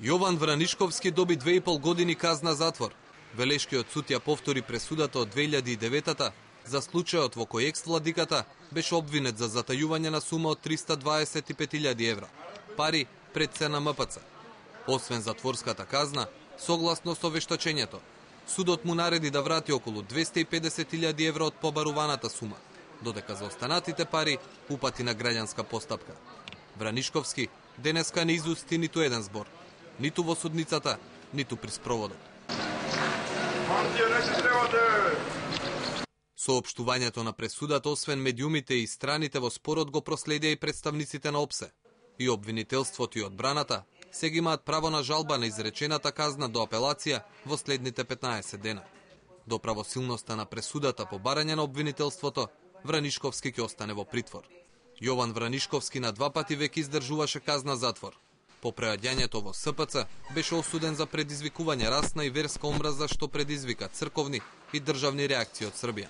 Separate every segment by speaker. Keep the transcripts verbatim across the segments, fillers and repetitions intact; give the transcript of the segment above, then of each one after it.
Speaker 1: Јован Вранишковски доби две и пол години казна затвор. Велешкиот суд ја повтори пресудата од две илјади и девета за случајот во кој екс-владиката беше обвинет за затајување на сума од триста дваесет и пет илјади евра, пари пред се на М П Ц. Освен затворската казна, согласно со вештачењето, судот му нареди да врати околу двесте и педесет илјади евра од побаруваната сума, додека за останатите пари упати на граѓанска постапка. Вранишковски денеска не изусти ниту еден збор, ниту во судницата, ниту при спроводот. Соопштувањето на пресудата, освен медиумите и страните во спорот, го проследија и представниците на ОПСЕ. И обвинителството и одбраната сега имаат право на жалба на изречената казна до апелација во следните петнаесет дена. До правосилноста на пресудата по барање на обвинителството, Вранишковски ќе остане во притвор. Јован Вранишковски на два пати веќе издржуваше казна затвор. По преаѓањето во С П Ц беше осуден за предизвикување расна и верска омраза што предизвика црковни и државни реакции од Србија.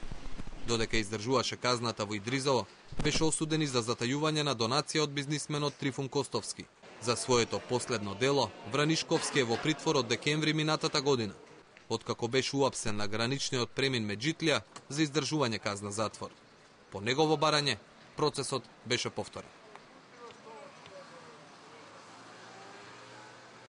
Speaker 1: Додека издржуваше казната во Идризово, беше осуден и за затајување на донација од бизнисменот Трифун Костовски. За своето последно дело, Вранишковски е во притвор од декември минатата година, откако беше уапсен на граничниот премин Меджитлија за издржување казна затвор. По негово барање, процесот беше повторен.